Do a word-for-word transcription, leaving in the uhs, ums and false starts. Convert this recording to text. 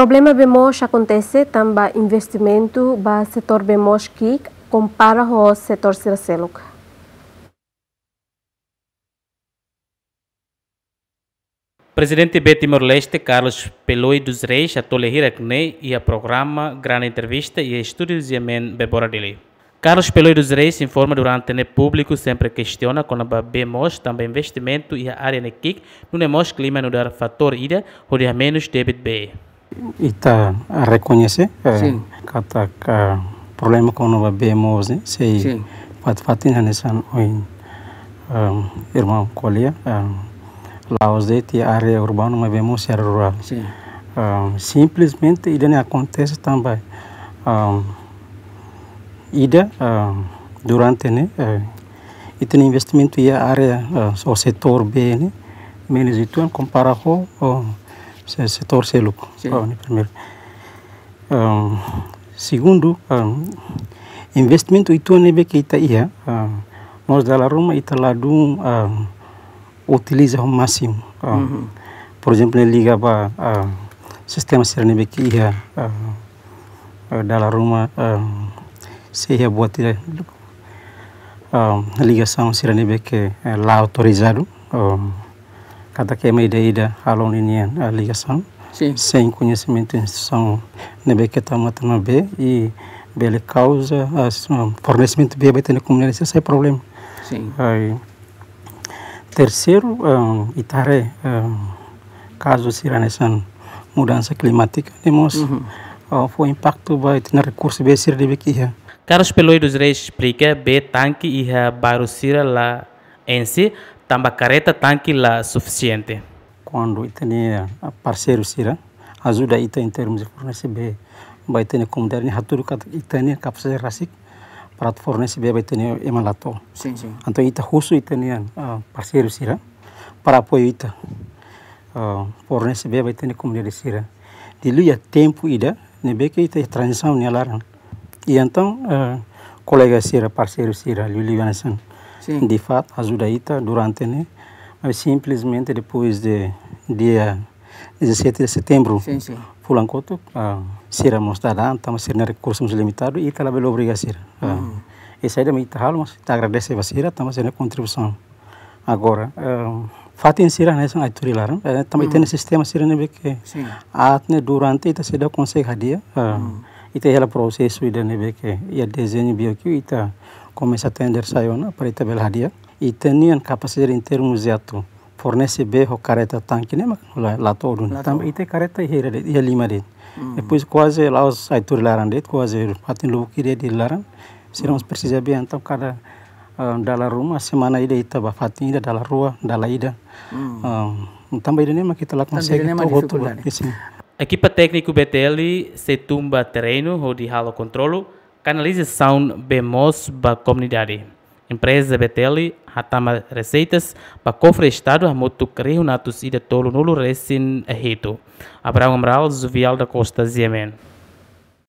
Problema bee moos akontese tanba investimentu ba setór bee moos ki'ik kompara ho setór sira seluk. Prezidente Bee Timor-Leste, Carlos Peloi dos Reis, hato'o lia hirak-ne'e iha programa Grande Entrevista iha estúdiu G M N Bebora Dili. Carlos Peloi dos Reis informa durante ne'e públiku sempre kestiona kona-ba bee moos tanba investimentu iha área ne'e ki'ik, nune'e mós klima nu'udar fatór ida hodi hamenus débit bee. Ita rekoñese, eh, Sin. katak problema kona-ba bee moos ne'e sei Sin. fatin-fatin hanesan ohin, em, irmaun ko'alia, em, la'ós de'it iha área urbanu, maibé mós iha área rurál. Sin. Em, simplesmente ida-ne'e akontese tanba, em, ida, em, durante ne'e, eh, ita-nia investimentu iha área, eh, ou setór bee ne'e menus uitoan kompara ho, ho se-, setór seluk. Sin. Oh, ne'e primeiru. Em, segundu, em, investimentu uitoan ne'ebé ke ita iha, em, mós dala ruma ita ladún, em, utiliza ho másimu. Em, Mhm. por ezemplu, ne'e liga ba, em, sistema sira ne'ebé ke iha, em, eh, dala ruma, em, sei iha buat ida, em, ligasaun sira ne'ebé ke, eh, la autorizadu, em, katak ema ida-ida halo ninia, eh, ligasaun. Sin. Sein koñesimentu instituisaun ne'ebé ke tama tama bee i bele kauza, eh, s-, em, fornesimentu bee ba ita-nia komunidade sira sai problema. Sin. Ai, terseiru, em, ita haree, em, kazu sira hanesan mudansa klimátika, ne'e mós, Mhm. eh, fó impaktu ba ita-nia rekursu bee sira ne'ebé ke iha. Carlos Peloi dos Reis esplika, bee tanke iha bairru sira la enxe, tanba kareta tanke la sufisiente. Kuandu ita-nia, eh, parseiru sira ajuda ita em termus de fornese bee ba ita-nia komunidade, ne'e hatudu katak ita-nia kapasidade rasik para atu fornese bee ba ita-nia ema la to'o. Sin, sin. Entaun ita husu ita-nia, ah, parseiru sira para apoiu ita, ah, fornese bee ba ita-nia komunidade sira. Liuliu iha tempu ida ne'ebé ke ita iha tranzisaun nia laran. I entaun, ah, kolega sira, parseiru sira, liuliu hanesan Sin. DIFAT ajuda ita durante ne'e, mas simplesmente depois de dia dezassete de setembro, Sin, sin. fulan kotuk, ah, sira mós dada an, tanba sira-nia rekursu mós limitadu, i ita labele obriga sira. Ah, Mhm. i saida mak ita halo, mas ita agradese ba sira, tanba sira-nia kontribuisaun. Agora, ah, fatin sira hanesan aat tuur iha laran, eh, tanba ita Mhm. iha sistema sira ne'ebé ke Sin. aat ne'e durante ita seidauk konsege hadi'a, ah, Mhm. ita iha hela prosesu ida ne'ebé ke iha dezeñu BOQ ita komesa tender sai ona para ita bele hadi'a. Ita-nian kapasidade em termos de atu fornese bee ho kareta tanke ne'e mak la, la to'o duni. La Tanba to'o. ita kareta iha hira de'it, iha lima de'it. Hmm. Depois kuaze la'ós aat tuur iha laran de'it, kuaze fatin lubuk ida iha laran. Sira mós Hmm. presiza bee, entaun kada, ah, dala ruma, semana ida ita bá fatin ida, dala rua, dala ida. Hmm. Ah, tanba ida-ne'e mak ita la Tanba konsege ida-ne'e mak to'o hotu ba. difikuldade. Isin. Ekipa tékniku B T L sei tun ba terrenu hodi halo kontrolu kanalizasaun bee moos ba komunidade. Empreza B T L hatama reseitas ba kofre Estadu hamutuk rihun atus ida tolunulu resin hitu. Abrão Amaral, Zuvial da Costa, G M N.